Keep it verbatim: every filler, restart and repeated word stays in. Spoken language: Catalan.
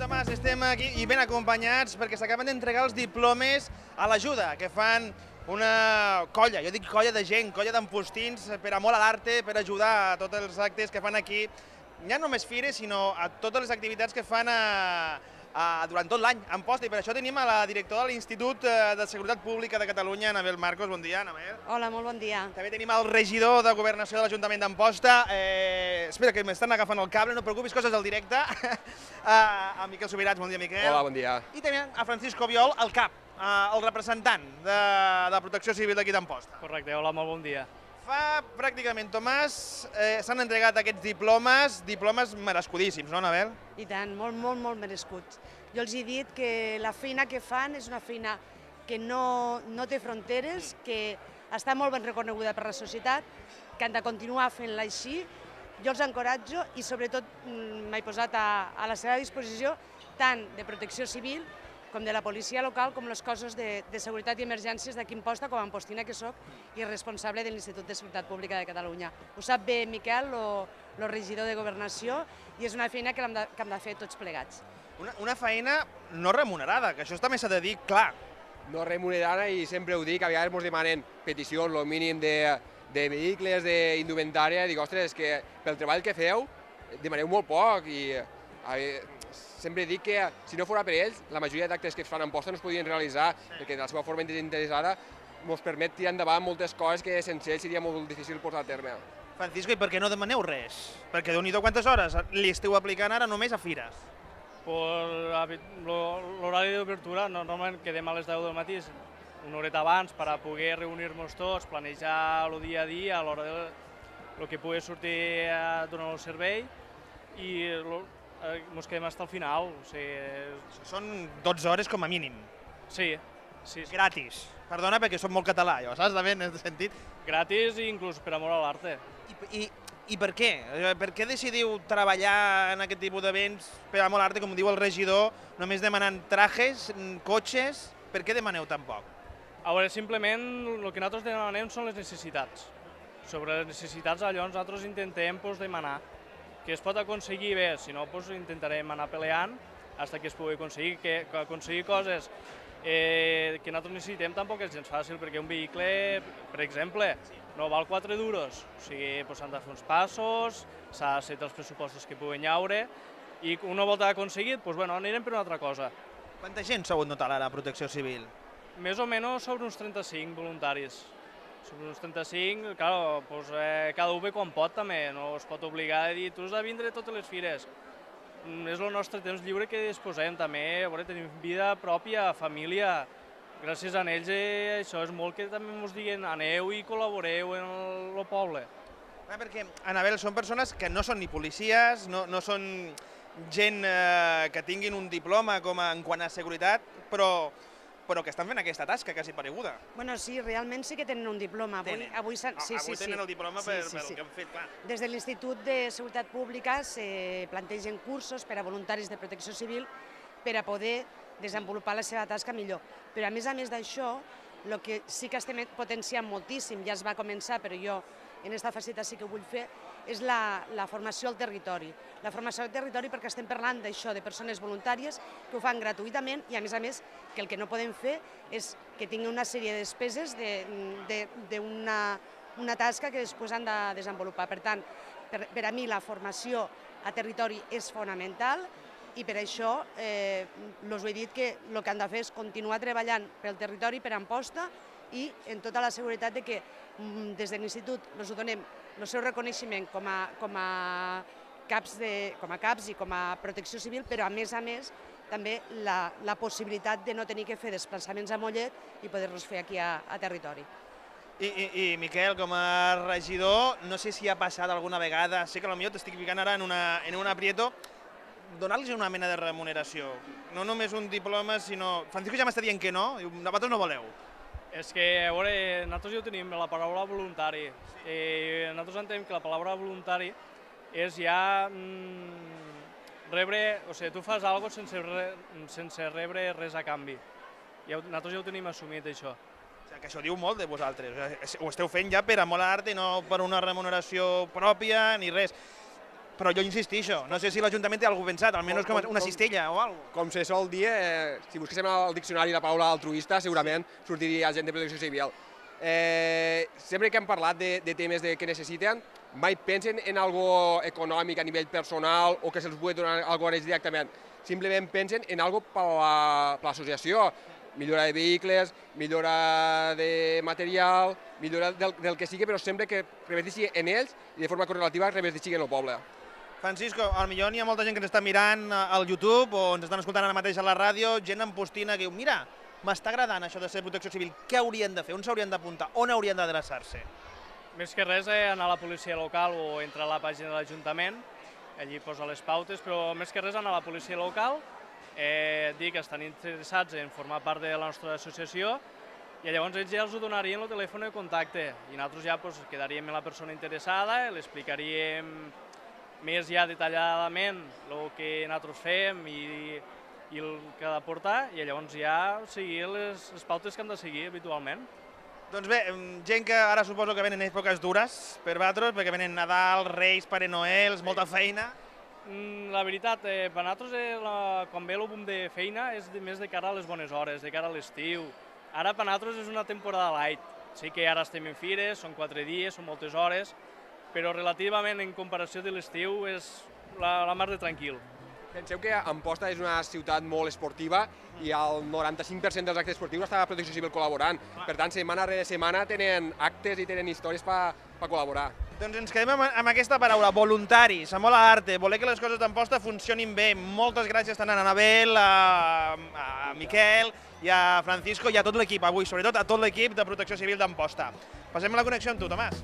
Tomàs, estem aquí i ben acompanyats perquè s'acaben d'entregar els diplomes a l'Ajuda, que fan una colla, jo dic colla de gent, colla d'empostins per amor a l'arte, per ajudar a tots els actes que fan aquí, ja no només fires, sinó a totes les activitats que fan a, a, durant tot l'any a Amposta. I per això tenim a la directora de l'Institut de Seguretat Pública de Catalunya, Anabel Marcos. Bon dia, Anabel. Hola, molt bon dia. També tenim el regidor de Governació de l'Ajuntament d'Amposta. Eh, espera, que m'estan agafant el cable, no et preocupis, coses del directe. A Miquel Subirats, bon dia, Miquel. Hola, bon dia. I també a Francisco Viol, el cap, el representant de, de Protecció Civil d'aquí d'Amposta. Correcte, hola, molt bon dia. Fa pràcticament, Tomàs, eh, s'han entregat aquests diplomes, diplomes merescudíssims, no, Anabel? I tant, molt, molt, molt merescuts. Jo els he dit que la feina que fan és una feina que no, no té fronteres, que està molt ben reconeguda per la societat, que han de continuar fent-la així. Jo els encoratjo i sobretot m'he posat a, a la seva disposició tant de protecció civil com de la policia local, com les coses de, de seguretat i emergències d'aquí Amposta, com a ampostina que soc i responsable de l'Institut de Seguretat Pública de Catalunya. Ho sap bé Miquel, el regidor de Governació, i és una feina que hem de, que hem de fer tots plegats. Una, una feina no remunerada, que això també s'ha de dir clar. No remunerada, i sempre ho dic, a vegades ens demanen peticions, el mínim de, de vehicles, d'indumentària, dic, ostres, que pel treball que feu demaneu molt poc, i a veure, sempre dic que si no fos per ells, la majoria d'actes que es fan a Amposta no es podien realitzar, perquè de la seva forma desinteressada ens permet tirar endavant moltes coses que sense ells seria molt difícil posar a terme. Francisco, i per què no demaneu res? Perquè déu-n'hi-do quantes hores li esteu aplicant ara només a fires? L'horari d'obertura, normalment quedem a les deu del matí, una horeta abans, per a poder reunir-nos tots, planejar el dia a dia, a l'hora del que pugui sortir durant el servei, i ens quedem fins al final. Són dotze hores com a mínim. Sí. sí. Gratis. Perdona, perquè soc molt català, jo, saps? També en aquest sentit. Gratis i inclús per amor a l'arte. I, i, I per què? Per què decidiu treballar en aquest tipus d'events per amor a l'arte, com diu el regidor, només demanant trajes, cotxes? Per què demaneu tan poc? A veure, simplement el que nosaltres demanem són les necessitats. Sobre les necessitats, llavors nosaltres intentem demanar. Que es pot aconseguir bé, si no intentarem anar peleant fins que es pugui aconseguir. Que aconseguir coses que nosaltres necessitem tampoc és gens fàcil, perquè un vehicle, per exemple, no val quatre duros. O sigui, s'han de fer uns passos, s'ha de ser els pressupostos que puguin haure, i una volta aconseguit, doncs bueno, anirem per una altra cosa. Quanta gent sou en total ara a Protecció Civil? Més o menys sobre uns trenta-cinc voluntaris. Sobre uns trenta-cinc, clar, doncs, eh, cada un ve quan pot també, no es pot obligar a dir tu has de vindre a totes les fires. Mm, és el nostre temps lliure que disposem també, a veure, tenim vida pròpia, família. Gràcies a ells eh, això és molt que també ens diguin aneu i col·laboreu en el, el poble. Ah, perquè, Anabel, són persones que no són ni policies, no, no són gent eh, que tinguin un diploma com a, en quant a seguretat, però però que estan fent aquesta tasca quasi pareguda. Bueno, sí, realment sí que tenen un diploma. Avui, tenen. Avui, sí, avui sí, tenen sí. el diploma sí, per, sí, per sí. el que han fet, clar. Des de l'Institut de Seguretat Pública se plantegen cursos per a voluntaris de protecció civil per a poder desenvolupar la seva tasca millor. Però a més a més d'això, el que sí que estem potenciant moltíssim, ja es va començar, però jo en aquesta faceta sí que ho vull fer, és la, la formació al territori. La formació al territori perquè estem parlant d'això, de persones voluntàries que ho fan gratuïtament i a més a més que el que no podem fer és que tinguin una sèrie de despeses d'una una tasca que després han de desenvolupar. Per tant, per, per a mi la formació a territori és fonamental i per això eh, us he dit que el que han de fer és continuar treballant pel territori, per Amposta, i en tota la seguretat de que des de l'Institut ens donem el seu reconeixement com a, com a, caps de, com a caps i com a protecció civil, però a més a més també la, la possibilitat de no tenir que fer desplaçaments a Mollet i poder-los fer aquí a, a territori. I, i, I Miquel, com a regidor, no sé si ha passat alguna vegada, sé que potser t'estic ficant ara en una, en un aprieto, donar-los una mena de remuneració. No només un diploma, sinó... Francisco ja m'està dient que no, i vosaltres no voleu. És que, a veure, nosaltres ja tenim la paraula voluntari. I nosaltres entenem que la paraula voluntari és ja mm, rebre... O sigui, tu fas alguna cosa sense, re, sense rebre res a canvi. I nosaltres ja ho tenim assumit, això. O sigui, que això diu molt de vosaltres. Ho esteu fent ja per amor a l'art i no per una remuneració pròpia ni res. però jo insistixo, no sé si l'Ajuntament té alguna cosa pensat, almenys com una cistella o alguna cosa. Com se sol dir, eh, si busquéssim al diccionari la paraula altruista, segurament sortiria gent de protecció civil. Eh, sempre que hem parlat de, de temes de, que necessiten, mai pensen en algo econòmic a nivell personal o que se'ls pugui donar alguna cosa directament. Simplement pensen en algo per l'associació. Millora de vehicles, millora de material, millora del, del que sigui, però sempre que reverteixi en ells i de forma correlativa reverteixi en el poble. Francisco, potser hi ha molta gent que ens està mirant al YouTube o ens estan escoltant ara mateix a la ràdio, gent empostina que diu, mira, m'està agradant això de ser protecció civil, què haurien de fer, on s'haurien d'apuntar, on haurien d'adreçar-se? Més que res, eh, anar a la policia local o entrar a la pàgina de l'Ajuntament, allí posa les pautes, però més que res anar a la policia local, eh, dir que estan interessats en formar part de la nostra associació i llavors ells ja els donarien el telèfon de contacte i nosaltres ja pues, quedaríem amb la persona interessada, l'explicaríem més ja detalladament el que nosaltres fem i, i el que ha de portar i llavors ja seguir les, les pautes que han de seguir habitualment. Doncs bé, gent que ara suposo que venen èpoques dures per vosaltres, perquè venen Nadal, Reis, Pare Noel, molta feina. La veritat, eh, per nosaltres eh, la, quan ve el boom de feina és de, més de cara a les bones hores, de cara a l'estiu. Ara per nosaltres és una temporada light. Sí que ara estem en fires, són quatre dies, són moltes hores, però relativament en comparació de l'estiu és la, la mar de tranquil. Penseu que Amposta és una ciutat molt esportiva i el noranta-cinc per cent dels actes esportius està la Protecció Civil col·laborant. Per tant, setmana rere setmana tenen actes i tenen històries per col·laborar. Doncs ens quedem amb aquesta paraula, voluntaris, amor a l'arte, voler que les coses d'Amposta funcionin bé. Moltes gràcies tant a Anabel, a, a Miquel i a Francisco i a tot l'equip avui, sobretot a tot l'equip de Protecció Civil d'Amposta. Passem a la connexió amb tu, Tomàs.